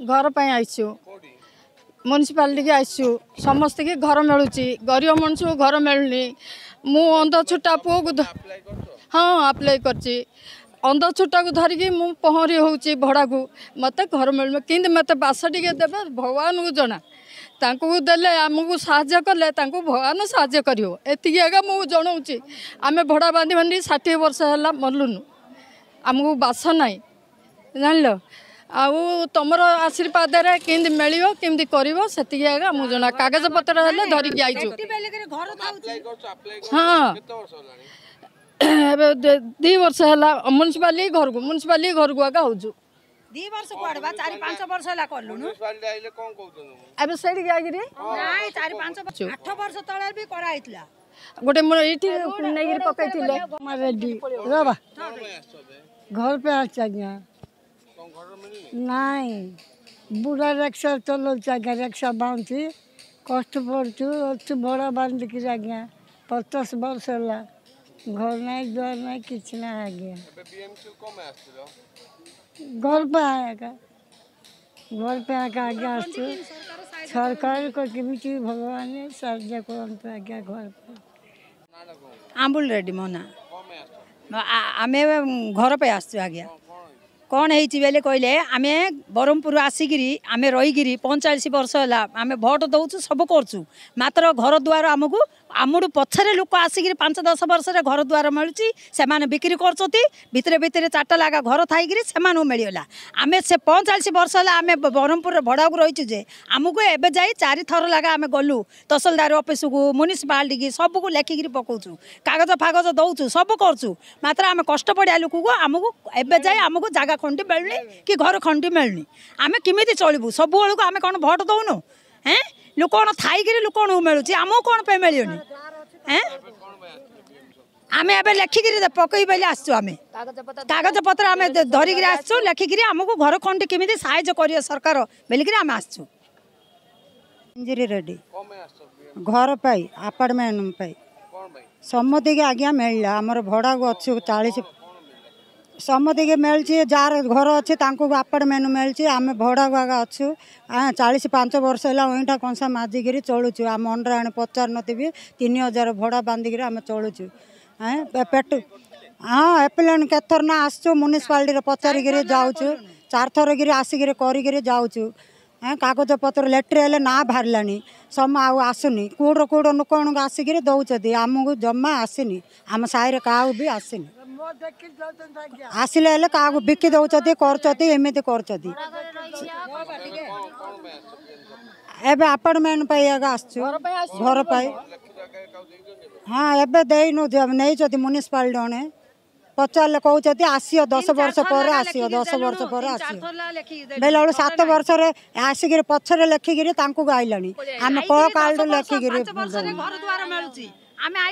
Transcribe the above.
ଘର ପାଇଁ ଆସିଛୁ, ମ୍ୟୁନିସିପାଲିଟିକି ଆସିଛୁ। ସମସ୍ତଙ୍କୁ ଘର ମିଳୁଛି, ଗରିବ ମଣିଷକୁ ଘର ମିଳୁନି। ମୁଁ ଅନ୍ଧ ଛୋଟା ପୁଅକୁ, ହଁ ଆପ୍ଲାଏ କରିଛି। ଅନ୍ଧ ଛୋଟାକୁ ଧରିକି ମୁଁ ପହଁରି ହେଉଛି ଭଡ଼ାକୁ। ମୋତେ ଘର ମିଳୁନି, କିନ୍ତୁ ମୋତେ ବାସ ଟିକେ ଦେବେ ଭଗବାନଙ୍କୁ ଜଣା। ତାଙ୍କୁ ଦେଲେ, ଆମକୁ ସାହାଯ୍ୟ କଲେ ତାଙ୍କୁ ଭଗବାନ ସାହାଯ୍ୟ କରିବ, ଏତିକି ଆଜ୍ଞା ମୁଁ ଜଣାଉଛି। ଆମେ ଭଡ଼ା ବାନ୍ଧି ବାନ୍ଧି 60 ବର୍ଷ ହେଲା ମଲୁନୁ, ଆମକୁ ବାସ ନାହିଁ ଜାଣିଲ। ଆଉ ତମର ଆଶୀର୍ବାଦରେ କେମିତି ମିଳିବ, କେମିତି କରିବ, ସେତିକି ଆଜ୍ଞା ମୁଁ ଜଣା। କାଗଜପତ୍ର ହେଲେ ଧରିକି ଆଇଛୁ। ହଁ, ଏବେ 2 ବର୍ଷ ହେଲା ମ୍ୟୁନିସିପାଲିଟି ଘରକୁ, ମ୍ୟୁନିସିପାଲିଟି ଘରକୁ ଆଗା ହଉଛୁ। 2 ବର୍ଷ କୁଆଡେ ବା, 4 5 ବର୍ଷ ହେଲା କଲୁଣୁ। ଏବେ ସେଇଠିକି ଆଇକିରି ନାଇଁ, 4 5 8 ବର୍ଷ ତଳେ ବି କରାହେଇଥିଲା ଗୋଟେ, ମୁଁ ଏଇଠି ନେଇକିରି ପକେଇଥିଲେ। ରେଡି ରବା ଘର ପାଇଁ ଆସିଛି ଆଜ୍ଞା। ନାଇଁ, ବୁଢ଼ା ରିକ୍ସା ଚଲାଉଛି ଆଜ୍ଞା, ରିକ୍ସା ବାନ୍ଧୁଛି, କଷ୍ଟ ପଡ଼ୁଛୁ, ଅଛୁ ଭଡ଼ା ବାନ୍ଧିକିରି ଆଜ୍ଞା। 50 ବର୍ଷ ହେଲା, ଘର ନାହିଁ, ଦ୍ୱାର ନାହିଁ, କିଛି ନାହିଁ ଆଜ୍ଞା। ଘର ପାଇଁ ଆଜ୍ଞା, ଘର ପାଇଁ ଆଜ୍ଞା ଆଜ୍ଞା ଆସିଛୁ। ସରକାର କେମିତି ଭଗବାନ ସାହାଯ୍ୟ କରନ୍ତୁ ଆଜ୍ଞା ଘର ପାଇଁ। ଆମ୍ବୁଲ ରେଡ୍ଡି ମୋ ନାଁ। ଆମେ ଘର ପାଇଁ ଆସିଛୁ ଆଜ୍ଞା। କ'ଣ ହେଇଛି ବେଲେ କହିଲେ, ଆମେ ବ୍ରହ୍ମପୁର ଆସିକିରି ଆମେ ରହିକିରି 45 ବର୍ଷ ହେଲା। ଆମେ ଭୋଟ ଦେଉଛୁ, ସବୁ କରୁଛୁ, ମାତ୍ର ଘର ଦ୍ୱାର ଆମକୁ, ଆମଠୁ ପଛରେ ଲୋକ ଆସିକିରି 5 10 ବର୍ଷରେ ଘର ଦ୍ୱାର ମିଳୁଛି। ସେମାନେ ବିକ୍ରି କରୁଛନ୍ତି ଭିତରେ ଭିତରେ, 4ଟା ଲାଗା ଘର ଥାଇକିରି ସେମାନଙ୍କୁ ମିଳିଗଲା। ଆମେ ସେ 45 ବର୍ଷ ହେଲା ଆମେ ବ୍ରହ୍ମପୁରରେ ଭଡ଼ାକୁ ରହିଛୁ ଯେ ଆମକୁ ଏବେ ଯାଇ 4ଥର ଲାଗା ଆମେ ଗଲୁ ତହସିଲଦାର ଅଫିସକୁ, ମ୍ୟୁନିସିପାଲିଟିକି, ସବୁକୁ ଲେଖିକିରି ପକାଉଛୁ, କାଗଜ ଫାଗଜ ଦେଉଛୁ, ସବୁ କରୁଛୁ, ମାତ୍ର ଆମେ କଷ୍ଟ ପଡ଼ିଆ ଲୋକକୁ ଆମକୁ ଏବେ ଯାଇ ଆମକୁ ଜାଗା ଖଣ୍ଡି ମିଳୁନି କି ଘର ଖଣ୍ଡି ମିଳୁନି। ଆମେ କେମିତି ଚଳିବୁ? ସବୁବେଳକୁ ଆମେ କ'ଣ ଭୋଟ ଦେଉନୁ? ହେଁ, ଲୋକ କ'ଣ ଥାଇକିରି ଲୋକମାନଙ୍କୁ ମିଳୁଛି, ଆମକୁ କ'ଣ ପାଇଁ ମିଳିବନି? ହେଁ, ଆମେ ଏବେ ଲେଖିକିରି ପକେଇ ବୋଲି ଆସିଛୁ। ଆମେ କାଗଜପତ୍ର ଆମେ ଧରିକିରି ଆସିଛୁ ଲେଖିକିରି, ଆମକୁ ଘର ଖଣ୍ଡି କେମିତି ସାହାଯ୍ୟ କରିବେ ସରକାର ବୋଲିକିରି ଆମେ ଆସିଛୁ। ମଞ୍ଜୁରୀ ରେଡ୍ଡି। ଘର ପାଇଁ, ଆପାର୍ଟମେଣ୍ଟ ପାଇଁ ସମସ୍ତିକି ଆଜ୍ଞା ମିଳିଲା। ଆମର ଭଡ଼ାକୁ ଅଛୁ 40। ସମସ୍ତିକି ମିଳିଛି, ଯାହାର ଘର ଅଛି ତାଙ୍କୁ ଆପାର୍ଟମେଣ୍ଟ ମିଳିଛି। ଆମେ ଭଡ଼ାକୁ ଆଗା ଅଛୁ। 45 ବର୍ଷ ହେଲା ଅଇଁଠା କଂସା ମାଜିକିରି ଚଳୁଛୁ। ଆମ ଅଣ୍ଡରେ ଆଣି ପଚାରୁ ନଥିବି, 3000 ଭଡ଼ା ବାନ୍ଧିକିରି ଆମେ ଚଳୁଛୁ। ପେଟ ହଁ ଏପ୍ଲାନ୍ କେତେଥର ନା ଆସୁଛୁ, ମ୍ୟୁନିସିପାଲିଟିରେ ପଚାରିକିରି ଯାଉଛୁ, 4ଥର କିରି ଆସିକିରି କରିକିରି ଯାଉଛୁ। କାଗଜପତ୍ର ଲେଟର୍ ହେଲେ ନା ବାହାରିଲାଣି ସମ ଆଉ ଆସୁନି। କେଉଁଠୁ କେଉଁଠୁ ଲୋକମାନଙ୍କୁ ଆସିକିରି ଦେଉଛନ୍ତି, ଆମକୁ ଜମା ଆସିନି। ଆମ ସାହିରେ କାହାକୁ ବି ଆସିନି। ଆସିଲେ ହେଲେ କାହାକୁ ବିକି ଦେଉଛନ୍ତି, କରୁଛନ୍ତି, ଏମିତି କରୁଛନ୍ତି। ଏବେ ଆପାର୍ଟମେଣ୍ଟ ପାଇଁ ଆଗ ଆସିଛୁ ଘର ପାଇଁ। ହଁ, ଏବେ ଦେଇନୁ, ନେଇଛନ୍ତି ମ୍ୟୁନିସିପାଲିଟି। ଜଣେ ପଚାରିଲେ କହୁଛନ୍ତି ଆସିବ 10 ବର୍ଷ ପରେ ଆସିବ, 10 ବର୍ଷ ପରେ ଆସିବ ବେଲେ ବେଳୁ 7 ବର୍ଷରେ ଆସିକିରି ପଛରେ ଲେଖିକିରି ତାଙ୍କୁ ଗାଇଲାଣି। ଆମେ କୋ କାଳରୁ ଲେଖିକିରି ଘର ଦ୍ୱାର ମିଳୁଛି ଆମେ।